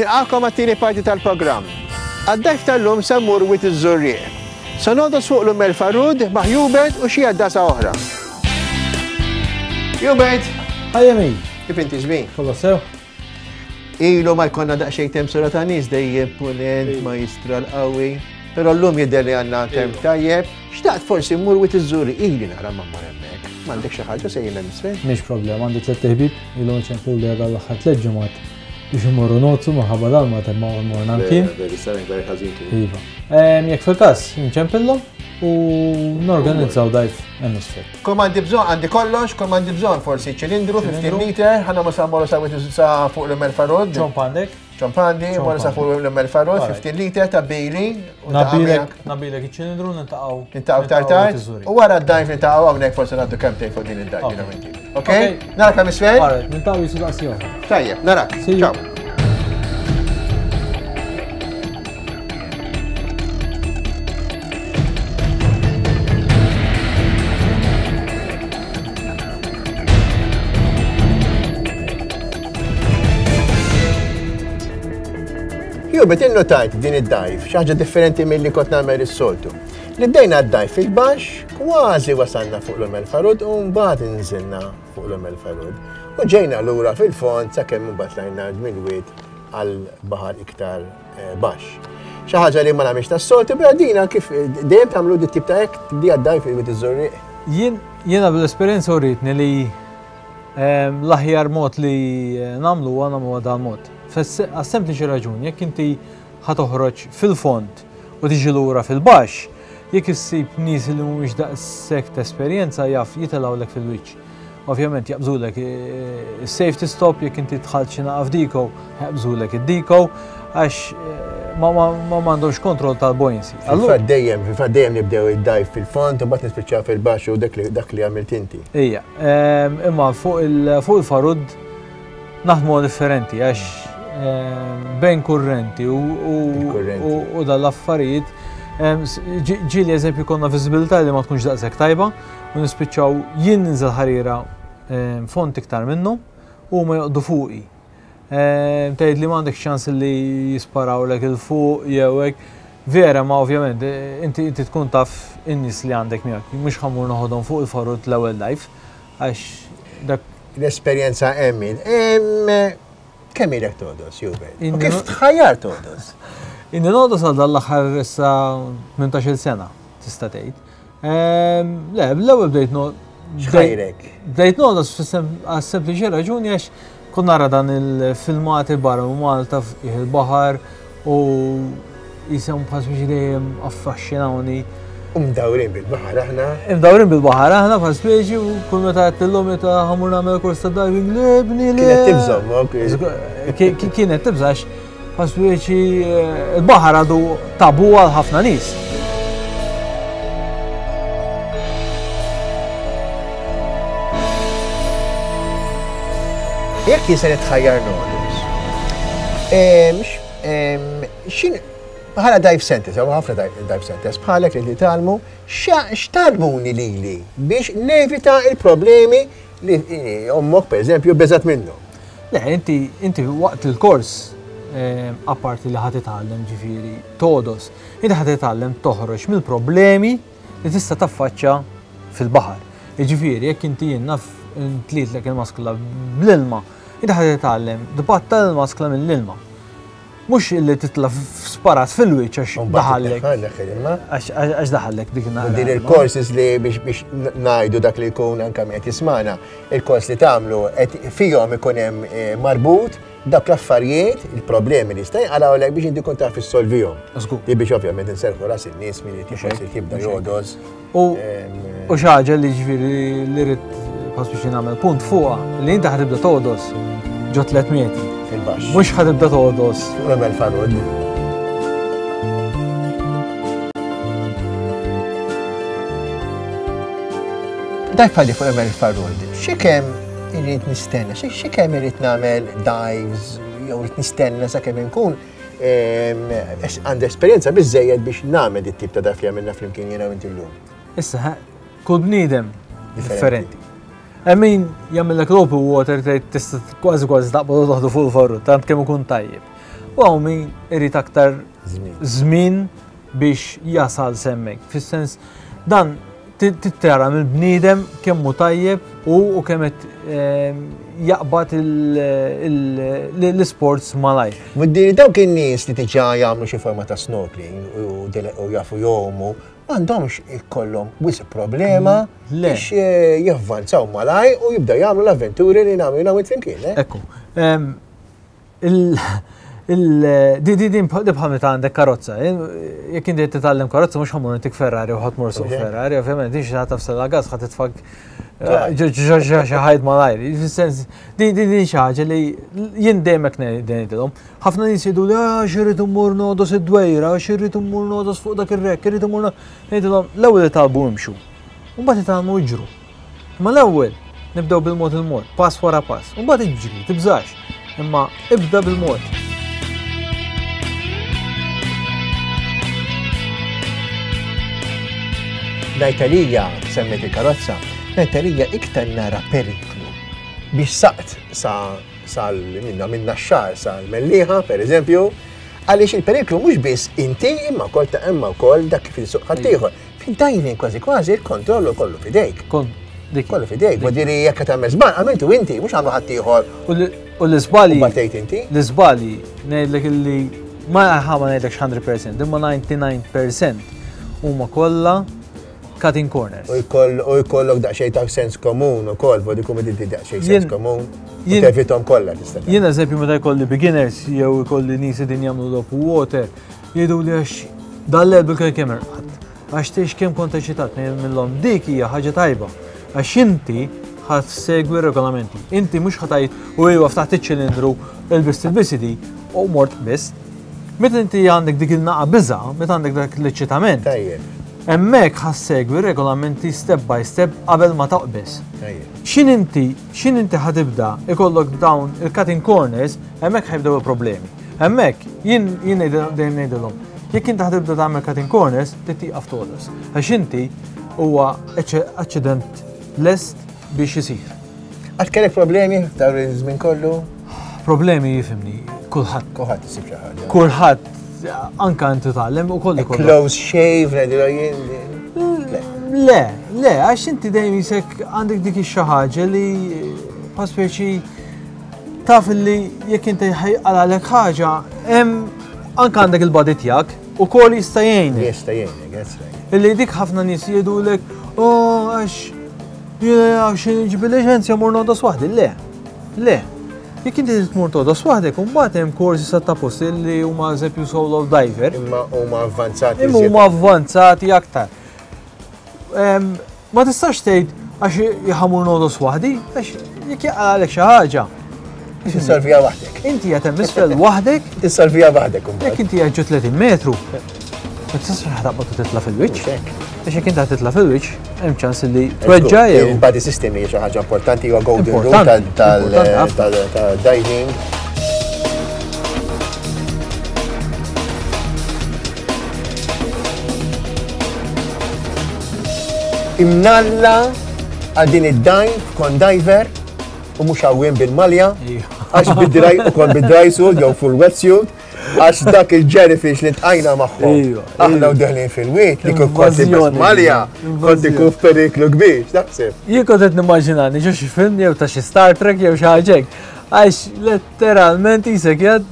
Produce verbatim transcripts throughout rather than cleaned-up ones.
Nilqakom għat-tieni parti tal-programm. Għad-dive tal-lum se mmur Wied iż-Żurrieq. Se nogħdos fuq l-Umm Farrud ma' Hubert u xi għaddasa oħra. Hubert! Hi Emi! Kif inti żmien? Kollox sew? Ilu ma jkollna daqsxejn temp sura ta' nies dejjem punent majjistral qawwi. Però llum jidher li għandna temp tajjeb. Xtaqt forsi mmur Wied iż-Żurrieq ili nara ma mmur hemmhekk. M'għandek xi ħaġa sejjin hemm isfel? Mhix problema, għandi tliet ħbieb ilhom ċemplu li għadha l-aħħar tliet ġimgħat biex imorru nogħdsu minħabba dal-ma temma u morna mkien. Iva. Jekk fil-każ, nċempillhom u norganizzaw dive hemm isfel. Kull għandi bżonn, għandi kollox, kull għandi bżonn forsi ċilindru fifteen liter, ħana ma sa mmorru sa sa fuq l-Umm Farrud. Ċomp għandek? Ċomp għandi, morru sa fuq l-Umm Farrud, fifteen liter ta' bejli. Nabilek, nabilek iċ-ċilindru nintaqgħu. Nintaqgħu tard tard. U wara d-dive nintaqgħu hawnhekk forsi ngħaddu kemm tgħid fuq din id-dive jiena inti. Ok? Narak hemm isfel? Alright, nintaqgħu jisu daqs oħra. Tajjeb, narak. Ciao. Hubert, innotajt din id-dive, xi ħaġa differenti milli kont nagħmel is-soltu. Li bdejna d-dive fil-baxx, kważi wasalna fuq l-Umm Farrud u mbagħad inżilna fuq l-Umm Farrud. U ġejna lura fil-fond sakemm imbagħad tlajna mill-wied għal baħar iktar baxx. Xi ħaġa li ma nagħmilx tas-soltu, però dina kif dejjem tagħmlu dit tip ta' hekk tibdija d-dive fil-Wied iż-Żurrieq. Jien jiena bl-esperjenza uritni li l-aħjar mod li nagħmlu huwa nagħmlu dan mod. Għas-sempliċi raġuni, jekk inti ħa toħroġ fil-fond u tiġi lura fil-baxx, jekk issib nies li mhumiex daqshekk ta' esperjenza jaf jitilgħulek fil-wiċċ. Ovvjament jaqbżulek is-safety stop, jekk inti dħalt xi naqa' f'diko, jaqbżulek id-diko għax ma m'għandhomx kontroll tal-buoyancy. Fil-fatt dejjem, fil-fatt dejjem nibdew id-dive fil-fond u mbagħad nispiċċaw fil-baxx u dak li għamilt inti. Ija, imma fuq il-Farrud naħdmu differenti għax bejn kurrenti u dal-affarijiet. Ġieli eżempju konna viżibilità li ma tkunx daqshekk tajba u nispiċċaw jien ninżel ħarira font iktar minnhom u ma joqgħdu fuqi. Tgħid li m'għandek ċans li jisparawlek il fuq jew hekk. Vera, ma ovvjament inti inti tkun taf in-nies li għandek miegħek, mhux ħammur noħodhom fuq il-Farrud l-ewwel dive għax dak l-esperjenza hemm. Kemm ilek togħdos, Hubert? U kif tħajjar togħdos? Inni nogħdos għal dal-aħħar issa tmintax-il sena, tista' tgħid. Le, l-ewwel bdejt X'ħajrek? Bdejt nogħdos għas-sempliċi raġuni għax kont nara dan il-filmati barra minn Malta fih il-baħar u jisem bħal speċi dejjem affaxxinawni. U mdawrin bil-baħar aħna. Imdawrin bil-baħar aħna bħal speċi u kull meta għedtilhom meta ħamur nagħmel kors ta' diving le bni le. Kienet tibża' ok. Kienet tibża' għax bħal speċi il-baħar għadu tabu għal ħafna nies. Jekk jien se nitħajjar nogħdos, xin bħala dive centers, hawn ħafna dive centers, bħalek li titgħallmu, x'tgħallmuni lili biex nevita il-problemi li ommok pereżempju beżat minnhom. Le, inti, inti waqt il-kors, apparti li ħa titgħallem ġifieri togħdos, inti ħa titgħallem toħroġ mill-problemi li tista' taffaċċa fil-baħar. Jiġifieri jekk inti jien naf intlitlek il-maskla bl-ilma, inti ħa titgħallem tbattal il-maskla mill-ilma. Mhux illi titla' sparat fil-wiċċ għax daħallek. Għax daħallek dik in-naħa. Din il-courses li biex ngħidu dak li jkun anke qed jismana, il-kors li tagħmlu qed fihom ikun hemm marbut dak l-affarijiet, il-problemi li jista' jinqalgħulek biex inti tkun taf issolvihom. Li biex ovvjament inserħu ras in-nies min qed forsi jibda jogħdos. U xi ħaġa li ġifieri li rrid pass biex nagħmel punt fuqha li inti ħa tibda togħdos ġo tliet metri. Fil-baxx. Mhux ħa tibda togħdos. Fuq l-Umm Farrud. Dak bħalli fuq l-Umm Farrud, xi kemm irrid nistenna, xi kemm irrid nagħmel dives jew irrid nistenna sakemm inkun għandi esperjenza biżżejjed biex nagħmel dit tip ta' dive li għamilna flimkien jiena u inti llum. Issa, kull bniedem differenti. Hemm min jagħmellek l-open water tgħid tista' kważi kważi taqbad u toħdu fuq il-Farrud, tant kemm ikun tajjeb. U hawn min irid aktar żmien biex jasal s'hemmhekk. Fis-sens dan tittara mill-bniedem kemm hu tajjeb u kemm qed jaqbad l-isports malajr. Vuldiri dawk in-nies li diġà jagħmlu xi forma ta' snorkeling u jafu jgħumu, m'għandhomx ikollhom wisq problema biex javvanzaw malajr u jibdew jagħmlu l-avventuri li nagħmlu jiena u int flimkien. Ekku. Din bħal meta għandek karozza, jekk inti qed titgħallem karozza mhux ħa mmur intik Ferrari u ħa tmur suq Ferrari, ovvjament din xi ħadd tafsel gas ħa titfak xi ħajt malajr. Fis-sens din din xi ħaġa li jien dejjem hekk ngħidilhom. Ħafna nies jgħidu li ah x'irrid immur nogħdos id-dwejra, x'irrid immur nogħdos fuq dak ir-wreck, irrid immur ngħidilhom l-ewwel itgħallmu imxu. U mbagħad itgħallmu jiġru. Imma l-ewwel nibdew bil-mod il-mod, pass wara pass. U mbagħad iġri, tibżax. Imma ibda bil-mod. L-Italija, semmet il-karozza, l-Italija iktar nara periklu biex saqt sal minna minna xar sal Mellieħa, per eżempju, għaliex il-periklu mhux biss inti imma wkoll ta' imma wkoll dak kif il-suq ħaddieħor. Fid-diving kważi kważi il-kontrollu kollu fidejk. Kollu fidejk, vuldiri jekk tagħmel żball, għamiltu inti, mhux għamlu ħaddieħor. U l-iżbalji. U batejt inti? L-iżbalji ngħidlek illi ma ħa ma ngħidlekx hundred percent, imma ninety-nine percent huma kollha cutting corners. U jkollok daqsxejn ta' sens komun ukoll, vodi kum inti daqsxejn sens komun. U tevitom kollha tista' tagħmel. Jien eżempju meta jkolli beginners jew jkolli nies din jagħmlu l-open water, jgħidu li għax dal-lejl bil-kemm irqad. Għax tgħix kemm kont eċitat ngħidilhom dik hija ħaġa tajba. Għax inti ħadd segwi r-regolamenti. Inti mhux ħa tgħid u iwa ftaħt iċ-ċilindru ilbist il-bisidi u mort biss. Meta inti għandek dik il-naqa biża', meta għandek dak l-eċitament. Tajjeb. Hemmhekk ħassegwi regolamenti step by step qabel ma taqbeż. Tajjeb. X'in inti, x'in inti ħatibda ikollok dawn il-cutting corners, hemmhekk ħajbdew il-problemi. Hemmhekk jien, jien dejjem ngħidilhom, jekk inti ħatibda tagħmel cutting corners, trid tieqaf togħdos. Għax inti huwa aċċident lest biex isir. Għad kellek problemi f'dawn iż-żmien kollu? Problemi jifhimni, kulħadd. Kulħadd isib xi ħaġa. Kulħadd, anka inti tgħallem u kollu kollu. Close shave, ngħidilha jien. Le. Le, le, għax inti dejjem jisek għandek dik ix-xi ħaġa li pa speċi taf li jekk inti ħajqalalek ħaġa, hemm anka għandek il-body tiegħek u koll jista' jgħinek. Jista' jgħinek, that's right. Illi dik ħafna nies jgħidulek, oh, għax għax nġib il-liċenzja mur nogħdos waħdi. Le, le. Jekk inti tmur togħdos waħdek, u mbagħad hemm korsi sa ta' posti li huma eżempju solo diver. Imma huma avvanzati. Imma huma avvanzati aktar. Em, ma tistax tgħid għax jħamur nogħdos waħdi, għax jekk jaqalek xi ħaġa. Tissolvija waħdek. Inti qed hemm isfel waħdek. Tissolvija waħdek imbagħad. Jekk inti qed ġo tletin metru, ma tistax ħataqbad u titla' fil-wiċċ. Mhux hekk. Għax jekk inti ħatitla' fil-wiċċ, hemm ċans li tweġġa' jew. Il-body system hija xi ħaġa importanti, huwa golden rule Importanti, tal-, importanti ħafna. tal-, tal-diving. Imnalla għal din id-dive kon diver u mhux għawin bil-malja, Ija. għax bid-dry u kon bid-dry suit jew full wetsuit, għax dak il-jellyfish li tqajna magħhom. Ija, Aħna ija. u deħlin fil-wiet li kont kont ilbes Invażjoni. malja, kont ikun f'periklu kbir, x'taħseb? Jien kont qed nimmaġinani ġo xi film jew ta' xi Star Trek jew xi ħaġa hekk. Għax letteralment isek jgħid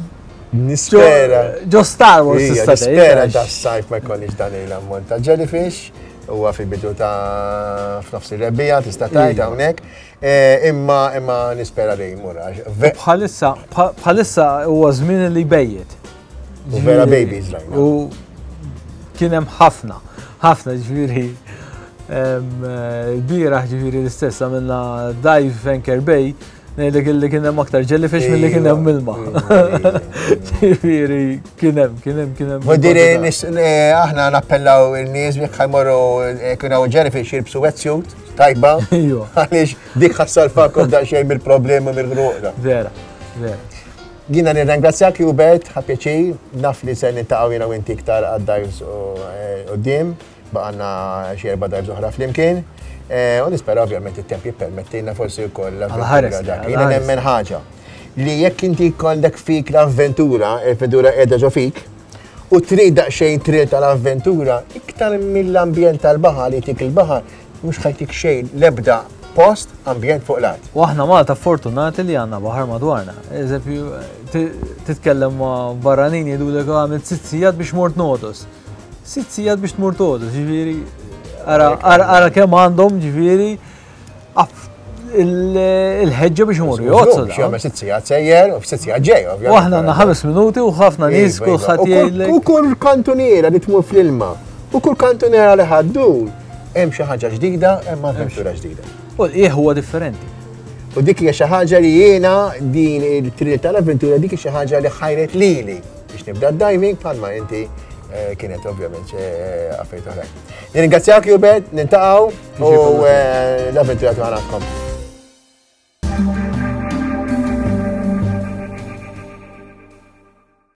Nispera. Ġo Star Wars Ija, tista' tgħid, nispera għax da s-sajf ma jkollix dan il-ammont ta' jellyfish. Huwa fil-bidu ta' f'nofs ir-rebbiegħa tista' tgħid Ija. hawnhekk. Eh, imma, imma nispera li jmur, għax ve- Bħalissa, bħa-, bħalissa huwa żmien li jbejjet. U vera Ġifieri, babies rajna. U kien hemm ħafna, ħafna ġifieri. Em, eh, il-bieraħ ġifieri l-istess għamilna dive Anchor Bay, ngħidlek illi kien hemm aktar jellyfish milli kien hemm ilma. Ġifieri kien hemm, kien hemm, kien hemm. Vuol dire, kwantità. nis-, eh, aħna nappellaw il-nies jekk ħajmorru, eh, kien hawn jellyfish jilbsu wetsuit tajba. Ejwa. Għaliex dik ħassalfakom daqsxejn mill-problemi mill-ħruq. Vera, vera. Jiena nirringrazzjak Hubert, ħa pjaċir, naf li se niltaqgħu jiena u inti iktar għad-dives u, eh, quddiem, baqgħna xi erba' dives oħra flimkien. Eh, u nispera ovvjament it-temp jippermettilna forsi wkoll Għal ħares, l-avventura dak. għal Jiena ħares. nemmen ħaġa Li jekk inti għandek fik l-avventura, l-avventura qiegħda ġo fik, u trid daqsxejn thrill tal-avventura, iktar mill-ambjent tal-baħar li tik il-baħar, mhux ħa jtik xejn l-ebda post ambjent fuq l-art. U aħna Malta fortunati li għandna baħar madwarna. Eżempju, titkellem ma' barranin jgħidulek għamilt sitt sigħat biex mort ngħodos. Sitt sigħat biex tmur tgħodos, ġifieri, ara kemm għandhom ġifieri il-ħeġġa biex imorru jgħoddsu. Biex jagħmel sitt sigħat sejjer u sitt sigħat ġej, ovvjament. U aħna għandna ħames minuti u ħafna nies kulħadd jgħidlek. U kull kantuniera li tmur fl-ilma, u kull kantuniera li ħaddur, hemm xi ħaġa ġdida, hemm avventura ġdida. U l-qiegħ huwa differenti. U dik hija xi ħaġa li jiena din il-thrill tal-avventura dik xi ħaġa li ħajret lili biex nibda diving bħalma inti kienet ovvjament affarijiet oħrajn. Nirringrazzjak Hubert, niltaqgħu u l-avventura tagħna.